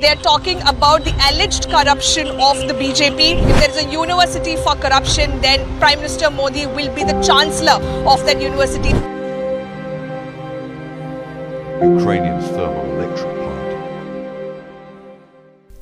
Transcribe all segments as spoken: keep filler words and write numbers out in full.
They are talking about the alleged corruption of the B J P. If there is a university for corruption, then Prime Minister Modi will be the chancellor of that university. Ukrainian thermoelectric plant.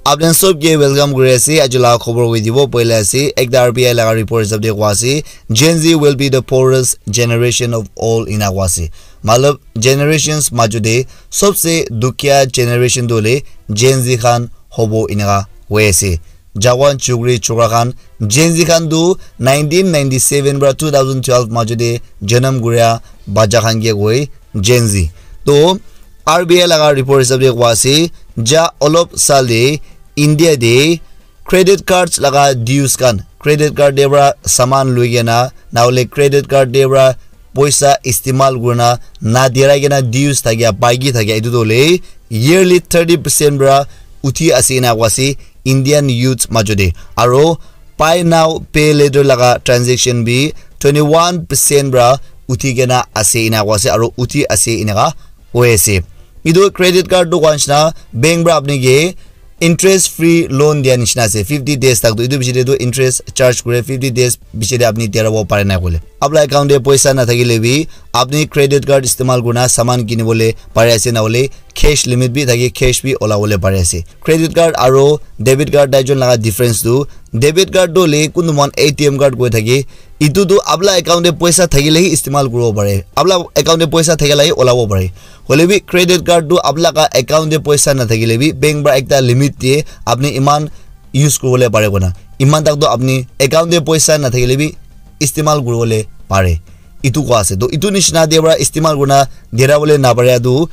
Apni sob ke welcome kuri ase. Aji laga khobor hoi dibo poila ase. Ekta R B I laga report hisab de koa ase, Gen Z will be the poorest generation of all ena koa ase. Matlab generations majo de sobse dukhiya generation tu hoile Gen Z khan hobo eneka hoi ase. Jawan chukri chukra khan Gen Z khan tu nineteen ninety-seven para two thousand twelve majo de janam kuria bacha khan ke koi Gen Z. To R B I laga report hisab de koa ase, ja olop sal de India de credit cards laga dues khan, credit card de para saman lui kena na hole credit card de para poisa istimal kurina na dirai kena dues thakia, baiki thakia, etu tu hoile yearly thirty percent para uthi ase ena koa ase Indian youth majo de. Aro buy now pay later laga transaction bi twenty one percent para uthi kena ase ena koa ase, aro uthi ase eneka hoi ase. Etu credit card tu koa nishina bank para apni ke interest free loan dia nishina ase fifty days tak tu. Etu piche de tu interest charge kure fifty days piche de apni dia rabo pare na koile. Apna account de poisa na thakile bi apni credit card istimal kurina saman kini bole pare ase na hole cash limit bi thake, cash bi ola bole pare ase. Credit card aro debit card daijon laga difference tu, debit card tu hoile kuntu mon A T M card koi thake, etu tu apna account de poisa thakile hi istimal kuribo pare. Apna account de poisa thakile hi olabo pare. Hoile bi credit card tu apna laga account de poisa na thakile bi bank para ekta limit diye apni iman use kuribole pare kona. Iman tak tu apni account de poisa na thakile bi istimal kuribole pare. Etu koa ase. To etu nishina de para istimal kurina dera bole na pare tu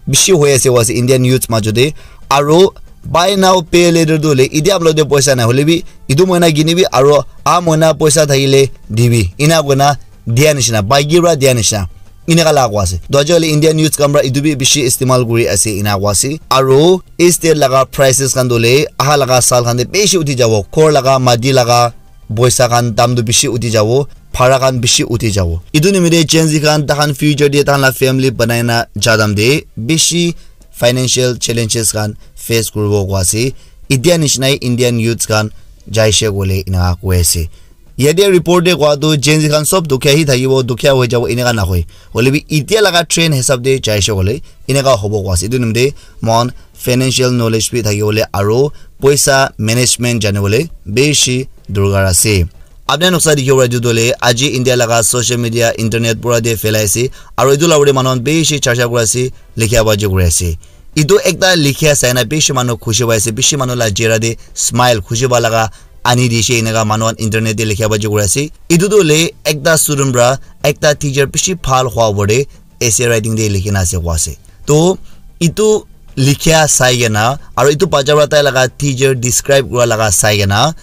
bishi hoi ase koa ase Indian youth majo de. Aro buy now pay later tu hoile etia apna de poisa na hole bi etu moina kini bi aro a moina poisa thakile dibi ena koina dia nishina, baiki para dia nishina. Eneka la koa ase. To aji hole Indian youth khan para etu bi bishi istimal kuri ase ena koa ase. Aro state laga prices khan tu hoile aha laga sal khan de bishi uthi jabo. Ghor laga, mati laga, poisa khan dam tu bishi uthi jabo, bhara khan bishi uthi jabo. Etu nimite Gen Z khan takhan future de takhan la family banai na ja time de bishi financial challenges khan face kuribo koa ase. Etia nishina hi Indian youths khan jaise koile eneka koi ase. Yate report de koa tu Gen Z khan sob dukhiya hi thakibo, dukhiya hoi jabo eneka nahoi. Hoile bi etia laga trend hisab de jaise koile eneka hobo koa ase. Etu nimite mon financial knowledge bi thaki bole aro poisa management jani bole bishi dorkar ase. Apni noksa dikhi bole etu tu hoile aji India laga social media, internet pura de phelai ase. Aro etu la ure manu khan bishi charcha kuri ase, likhia baji kuri ase. Etu ekta likhia sai na bishi manu khushi pai ase, bishi manu la chehra de smile, khushi pa laga ani dise eneka manu khan internet de likhia baji kuri ase. Etu tu hoile ekta student para ekta teacher bishi bhal hua opor de essay writing de likhi na ase koa ase. To etu likhia sai kena aro etu bacha para tai laga teacher describe kura laga sai kena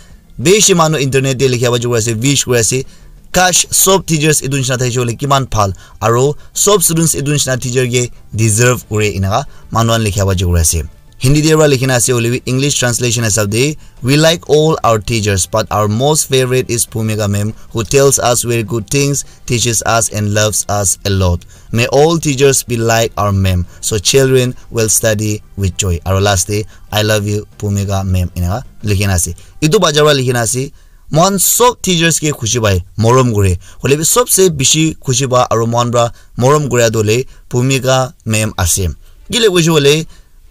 bishi manu internet de likhia baji kuri ase, wish kuri ase. Kash sob teachers etu nishina thaise koile kiman bhal aro sob students etu nishina teacher ke deserve kure eneka manu khan likhia baji kuri ase. Hindi de para likhina ase hoile bi English translation hisab de, we like all our teachers but our most favorite is Bhumika ma'am who tells us very good things, teaches us and loves us a lot. May all teachers be like our ma'am so children will study with joy. Aro last de, I love you Bhumika ma'am eneka likhina ase. Etu bacha para likhina ase. Mohan sob teachers ke khushi pai, morom kure. Hoile bi sobse bishi khushi pa aro mohan para morom kura tu hoile Bhumika ma'am ase. Kile koise koile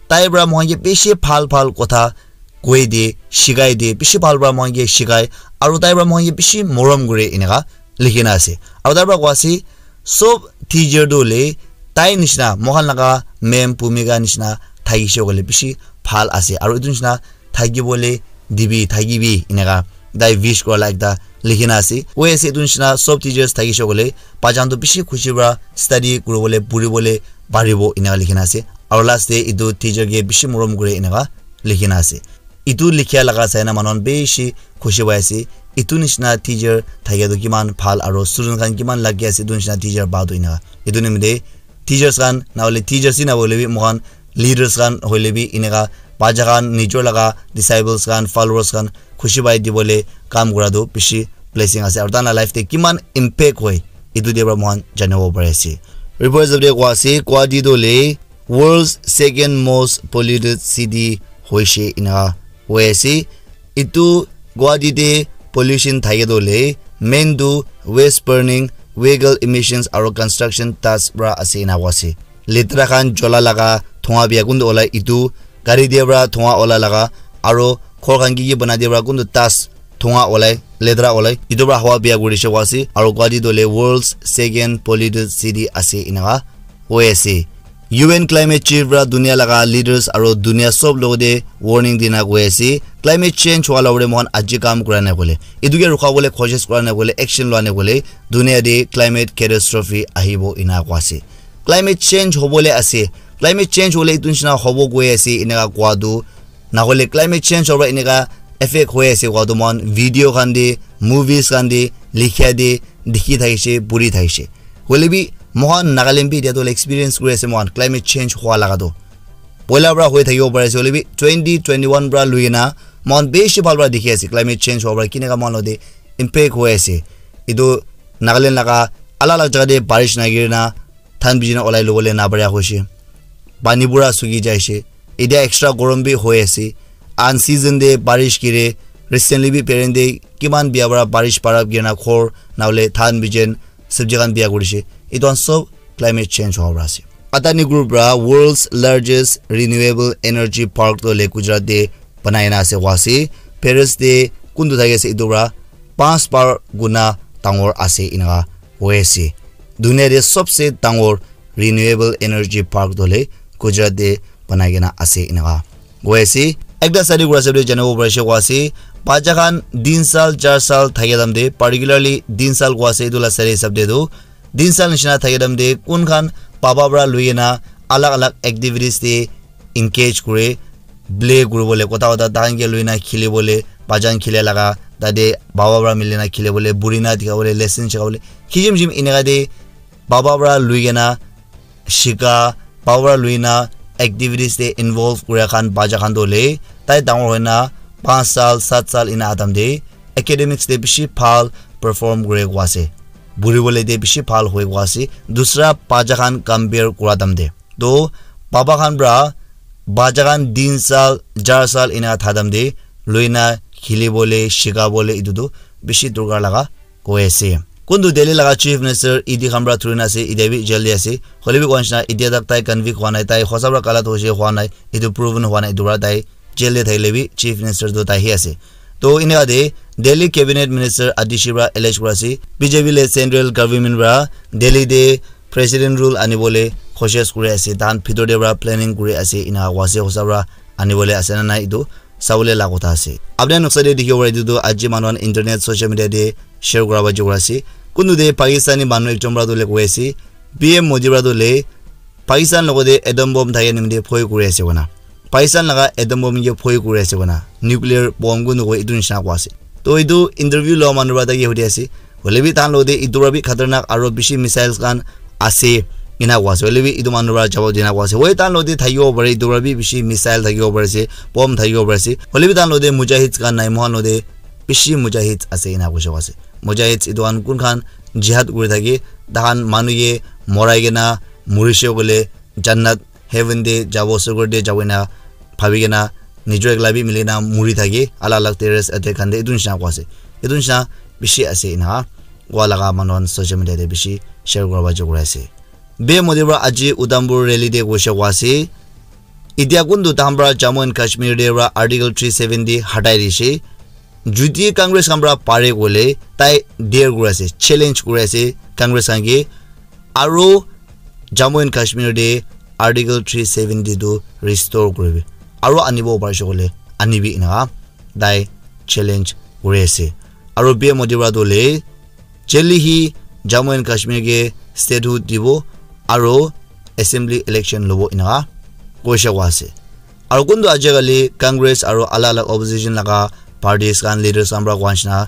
tai para mohan ke bishi bhal bhal kotha koi de, shikai de, bishi bhal para mohan ke shikai aro tai para mohan ke bishi morom kure eneka likhina ase. Aro tai para koa ase sob teacher tu hoile tai nishina mohan laga ma'am Bhumika nishina thakise koile bishi bhal ase aro etu nishina thaki bole dibi, thakibi eneka tai wish kura la ekta likhina ase. Koi ase etu nishina sob teachers thakise koile bacha khan tu bishi khushi para study kuri bole, puri bole paribo eneka likhina ase. Aro last de etu teacher ke bishi morom kure eneka likhina ase. Etu likhia laga sai na manu khan bishi khushi pai ase. Etu nishina teacher thakia tu kiman bhal aro student khan kiman lucky ase etu nishina teacher pa tu eneka. Etu nimite teachers khan na hoile teachers hi na hoile bi moikhan leaders khan hoile bi eneka bacha khan nijor laga disciples khan followers khan khushi pai dibole kam kura tu bishi blessing ase aro tai la life te kiman impact hoi etu te para moikhan janibo pari ase. Report hisab te koa ase Guwahati tu hoile world's second most polluted city boishe ena koi ase. Etu Guwahati te pollution thake toh hoile main tu waste burning, vehicle emissions aro construction dust pra ase ena koi ase. Letera khan jola laga dhua bia kuntu olai etu gari te pra dhua ola laga aro ghor khan ki ki bana te pra kuntu dust dhua olai letera olai etu pra hawa bia kuri she koi ase. Aro Guwahati toh hoile world's second polluted city ase ena koi ase. U N climate change pra dunia laga leaders aro dunia sob logote warning dina koi ase. Climate change hwa logore mohan aji kam kura na koile, etu ke rukha bole koshish kura na koile, action lua na koile, dunia te climate catastrophe ahibo ena koi ase. Climate change hobole ase. Climate change hole etu nishina hobo koi ase eneka koi tu. Na hoile climate change hoba eneka effect hoi ase koi tu mohan video khan te, movies khan te, likhia te, dikhi thakishe, puri thakishe. Hoile bi mohan Nagaland bi etia toh experience kuri ase mohan climate change hua laga toh. Poila pra hoi thakibo pari ase, hoile bi twenty twenty-one pra lui kena mohan bishi bhal pra dikhi ase climate change hua pra kineka mohan logote impact hoi ase. Etu Nagaland laga alag alag jaga te barish nagiri na than bijina olai lobole na paria hoishe. Pani pura suki jaishe. Etia extra gorom bi hoi ase. Unseason te barish gire. Recently bi peren te kiman bia para barish para girna ghor na hoile than bijen sabji khan bia kurishe. Etu khan sob climate change howa para ase. Adani Group para world's largest renewable energy park toh hoile Gujarat te banai na ase koa ase. Paris te kuntu thaki ase etu para panch bar guna dangor ase eneka hoi ase. Dunia te sobse dangor renewable energy park toh hoile Gujarat te banai kena ase eneka hoi ase. Ekta study kura hisab te janibo parise koa ase, bacha khan tin sal, char sal thakia time te, particularly tin sal koa ase, etu la study hisab te tu, tin sal nishina thakia time te kun khan baba para lui kena alag alag activities te engage kure, play kuribole, kotha kotha tahan ke lui na khilibole, bacha khan khile laga, tate baba para mili na khilibole, buri na dikhabole, lesson shikhabole, kisim kisim eneka te baba para lui kena shika, baba para lui na activities te involve kuria khan bacha khan toh hoile, tai dangor hoi na panch sal, sat sal ena aha time te academics te bishi bhal perform kure koa ase. Buri bole te bishi bhal hoi koa ase. Dusra bacha khan compare kura time te. Toh baba khan para bacha khan tin sal, char sal ena tha time te lui na khilibole, shikabole etu tu bishi dorkar laga koi ase. Kuntu Delhi laga Chief Minister E D khan para thuri na ase, etia bi jail te ase. Hoile bi koa nishina, etia tak tai convict hua nai, tai hosa para galat hoise hua nai, etu proven hua nai, etu para tai jail te thakile bi Chief Minister tu tai hi ase. To, eneka te Delhi Cabinet Minister Atishi para allege kura ase, B J P le Central Government para Delhi te President Rule anibole koshish kuri ase, tahan bhitor te para planning kuri ase, eneka koa ase, hosa para anibole ase na nai, etu sabole la kotha ase. Apni khan noksa te dikhibo pare, etu tu aji manu khan internet, social media te share kura ba jogor ase. Kuntu te Pakistani manu ekjon para tu hoile koi ase, P M Modi para tu hoile Pakistan logote atom bomb thake nimite bhoi kuri ase koina. Pakistan laga atom bomb ke bhoi kuri ase koina. Nuclear bomb kuntu koi etu nishina koa ase. To etu interview loa manu para tai ke hudi ase. Hoile bi tahan logote etu para bi khatarnak aro bishi missiles khan ase ena koa ase. Hoile bi etu manu para jawab dina koa ase. Hoi tahan logote thakibo pare, etu para bi bishi missile thakibo pare ase, bomb thakibo pare ase. Hoile bi tahan logote mujahids khan nai, mohan logote bishi mujahids ase ena koise koa ase. Mujahids etu khan kun khan jihad kuri thake, tahan manu ke morai kena murishe koile jannat, heaven te jabo, sorgo te jabo ena bhabi kena nijor ekla bi mili kena muri thake, alag alag terrorist attack khan te etu nishina koa ase. Etu nishina bishi ase ena koa laga manu khan social media te bishi share kura ba jogor ase. P M Modi para aji Udhampur rally te koise koa ase. Etia kuntu tahan para Jammu and Kashmir te para Article three seventy hatai dishe. Jodi Congress khan para pare koile tai dare kuri ase, challenge kuri ase Congress khan ke. Aro Jammu and Kashmir te Article three seventy tu restore kuribi. Aro anibo parise koile anibi eneka tai challenge kuri ase. Aro P M Modi para tu hoile jaldi hi Jammu and Kashmir ke statehood dibo aro assembly election lobo eneka koise koa ase. Aro kuntu ajikali Congress aro alag alag opposition laga parties khan leaders khan para koa nishina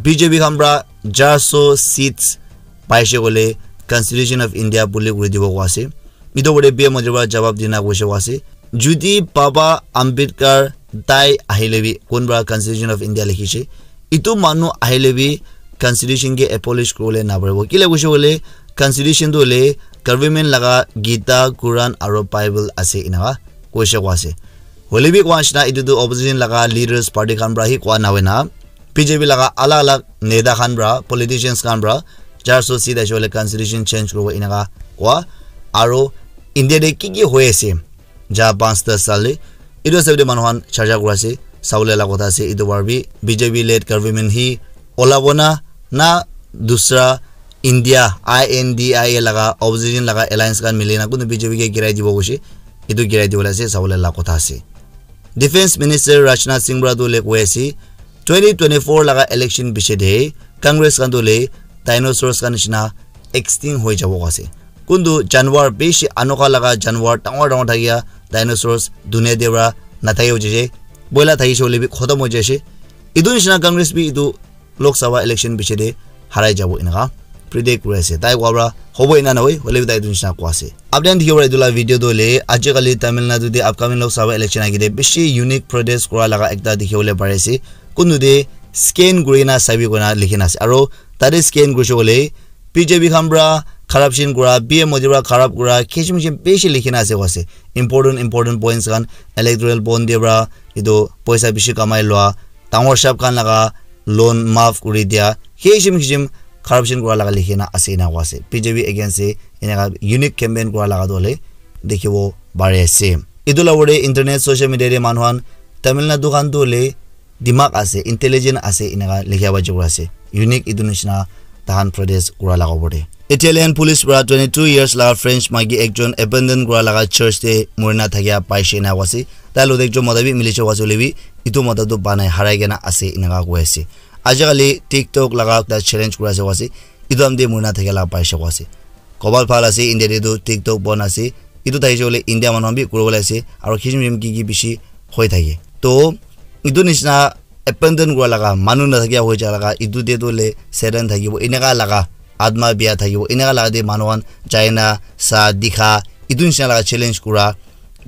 B J P khan para char so seats paise koile Constitution of India bully kuri dibo koa ase. Etu opor te P M Modi para jawab dina koise koa ase. Jodi Baba Ambedkar tai ahile bi kun para Constitution of India likhishe, etu manu ahile bi Constitution ke abolish kuribole naparibo. Kile koise koile Constitution tu hoile government laga Gita, Quran aro Bible ase eneka koise koa ase. Hoile bi koa nishina etu tu opposition laga leaders party khan pra hi koa nahoina, B J P laga alag alag neta khan pra, politicians khan pra, char so seat aishe hoile constitution change kuribo eneka koa. Aro India te ki ki hoi ase, ja panch das saal te, etu hisab te manu khan charcha kura ase, sabole la kotha ase, etu bar bi B J P led government hi olabo na, na dusra India, I N D I A laga opposition laga alliance khan mili na kunu B J P ke girai dibo koishe, etu girai dibole ase, sabole la kotha ase. Defense Minister Rajnath Singh pra tu le koi ase, twenty twenty-four laga election piche de Congress khan tu le dinosaurs khan nishina extinct hoi jabo ase. Kuntu janwar bishi anokha laga janwar dangor dangor thakia dinosaurs dunia de pra nathaki ho jaise. Boila thakishe hoile bi khotom ho jaise. Etu nishina Congress bi etu Lok Sabha election piche de harai jabo eneka predict kuri ase. Tai koa pra hobo ena nohoi, hoile bi tai etu nishina koa ase. Apni khan dikhibo para etu la video tu hoile, ajikali Tamil Nadu te upcoming Lok Sabha election age te bishi unique protest kura laga ekta dikhi bole pari ase. Kuntu te scan kuri na sabi kuri na likhi na ase. Aro tate scan kurishe koile, B J P khan pra corruption kura, P M Modi pra corrupt kura, kishim kishim bishi likhi na ase koa ase. Important, important points khan, electoral bond te pra etu poisa bishi kamai lua, dangor sahab khan laga loan maaf kuri dia, kishim kishim corruption kura laga likhi na ase ena koa ase. B J P against te eneka unique campaign kura laga tu hoile dikhibo pari ase. Etu la ugor te internet, social media te manu khan Tamil Nadu khan tu hoile dimag ase, intelligent ase, eneka likha pa jabo ase. Unique etu nishina tahan protest kura laga opor te. Italian police pra twenty-two years laga French maiki ekjon abandon kura laga church te murina thakia paishe ena koa ase. Tai logot ekjon mota bi milishe koa ase hoile bi, etu mota tu banai harai kena ase eneka koi ase. Ajikali TikTok laga ekta challenge kura ase koa ase. Etu khan te murina thakia laga paishe koa ase. Kobal bhal ase, India te tu TikTok bon ase. Etu thakishe hoile India manu khan bi kuri bole ase. Aro kishim kishim ki ki bishi hoi thake. To, etu nishina abandon kura laga, manu nathakia hoi ja laga, etu te tu hoile Satan thakibo, eneka laga, atma bia thakibo, eneka laga te manu khan jai na sa dikha, etu nishina laga challenge kura,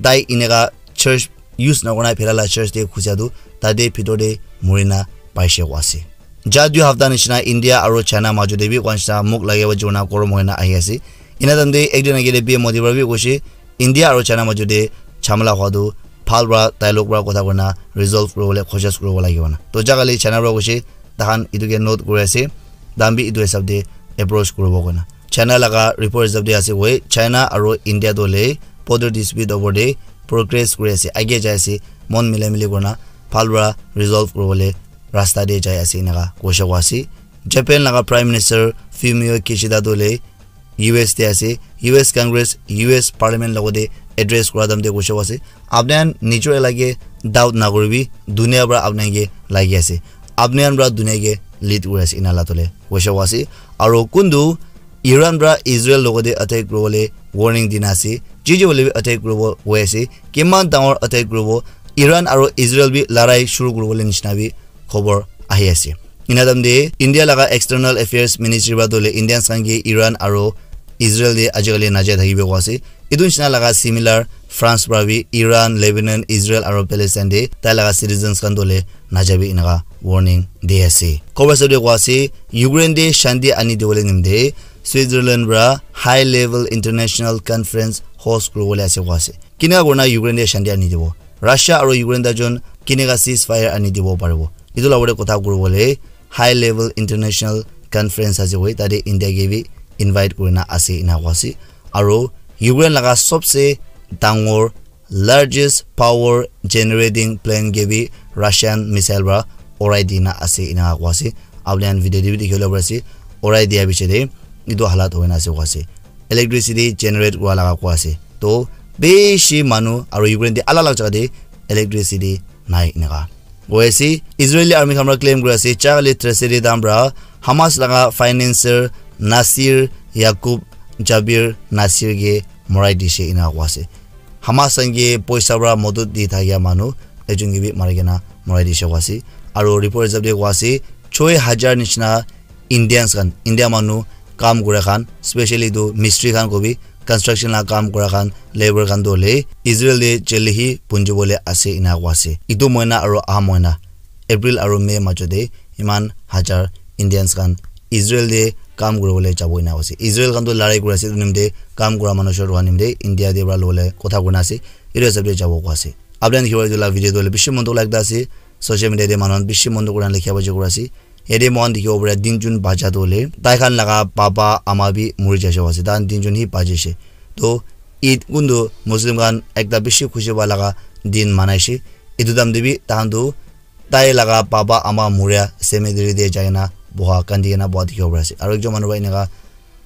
tai eneka church use nakura na phela la church te khusia tu, tate bhitor te murina paishe koa ase. Ja dui hafta nishina India aro China majo te bi koa nishina muk lage wa jona korom hoina ahi ase. Ena time te ekjon agile P M Modi pra bi koishe, India aro China majo te jhamela hua tu bhal pra dialogue pra kotha kurina resolve kuribole koshish kuribo lagibo na. To jakali China pra koishe, tahan etu ke note kuri ase, tahan bi etu hisab te approach kuribo koina. China laga report hisab te ase koi, China aro India tu hoile border dispute opor te progress kuri ase, age jai ase, mon mila mili kurina bhal pra resolve kuribole rasta te jai ase eneka koishe koa ase. Japan laga Prime Minister Fumio Kishida tu hoile U S te ase, U S Congress, U S Parliament logot te address kura time te koishe koa ase, apni khan nijor elaka doubt nakuribi, dunia pra apni khan ke lagi ase, apni khan pra dunia ke lead kuri ase ena la tole koishe koa ase. Aro kuntu Iran pra Israel logot te attack kuribole warning dina ase, jiji hoile bi attack kuribo koi ase, kiman dangor attack kuribo, Iran aro Israel bi larai shuru kuribole nishina bi khobor ahi ase. Ena time te India laga External Affairs Ministry pra tu hoile Indians khan ke Iran aro Israel te ajikali najai thakibo koa ase. Etu nishina laga similar France pra bi Iran, Lebanon, Israel aro Palestine te tai laga citizens khan tu hoile najabi eneka warning di ase. Khobor hisab te koa ase, Ukraine te shanti ani dibole nimite Switzerland pra high level international conference host kuribole ase koa ase. Kineka kurina Ukraine te shanti ani dibo? Russia aro Ukraine ta jon kineka ceasefire ani dibo paribo? Etu la ugor te kotha kuribole high level international conference ase koi, tate India ke bi invite kurina ase ena koa ase. Aro Ukraine laga sobse dangor largest power generating plant ke bi Russian missile pra urai dina ase ena koa ase. Apni khan video te bi dikhi bole pari ase, urai dia piche te etu halat hoina ase koa ase. Electricity generate kura laga koa ase. To bishi manu aro Ukraine te alag alag jaga te electricity nai eneka koi ase. Israeli army khan para claim kuri ase, Charlie Traceri dam para Hamas laga financier Nasir Yakub Jabir Nasir ke morai dishe ena koi ase. Hamas khan ke poisa para modot di thakia manu ekjon ke bi mari kena morai dishe koi ase. Aru report hisab te koi ase, choi hajar nishina Indians khan, India manu kam kura khan, specially tu mistri khan kobi, construction la kam kura khan, labour khan tu hoile Israel te jail te hi punji bole ase ena koi ase. Etu mohina aru aha mohina, April aru May majot te iman hajar Indians khan Israel te kam kuri bole jabo ena koi ase. Israel khan tu larai kuri ase, etu nimite kam kura manu short hua nimite India te para lobole kotha koi na ase, etu hisab te jabo koi ase. Apni khan dikhibo etu la video tu hoile bishi mon dukh lagda ase. Social media te manu khan bishi mon dukh kurina likha baji kura ase. Yate moikhan dikhibo pare tinjun bacha tu hoile tai khan laga papa ama bi muri jaise ase. Tai khan tinjun hi baji ase. To Eid kuntu Muslim khan ekta bishi khushi pa laga din manaise. Etu time te bi tai khan tu tai laga papa ama muria cemetery te jai kena boha, kandi kena boha dikhibo pare ase. Aru ekjon manu para eneka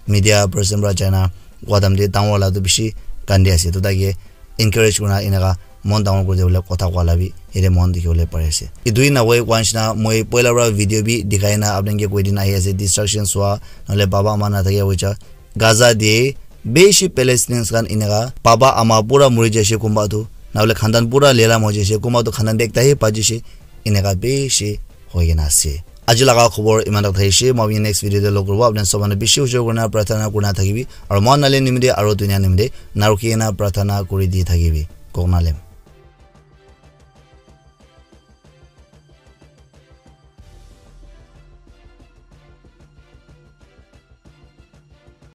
media person para jai na koa time te dangor wala tu bishi kandi ase. To tai ke encourage kurina eneka mon dangor kuri dibole kotha koa la bi yate moikhan dikhi bole pari ase. Etu hi nahoi koa nishina moi poila para video bi dikhai na apni khan ke koi dina ahi ase, destruction swa nahole baba ama na thakia hoicha Gaza te bishi Palestinians khan eneka baba ama pura muri jaise, kunba tu nahole khandan pura lelam hoi jaise, kunba tu khandan te ekta hi baji jaise, eneka bishi hoi kena ase. Aji laga khobor iman tak thakishi, moi apni next video te log kuribo. Apni sob manu bishi ujor kurina prarthana kurina thakibi, aru moikhan nale nimite aru dunia nimite narukhi kena prarthana kuri di thakibi. Kok nalem.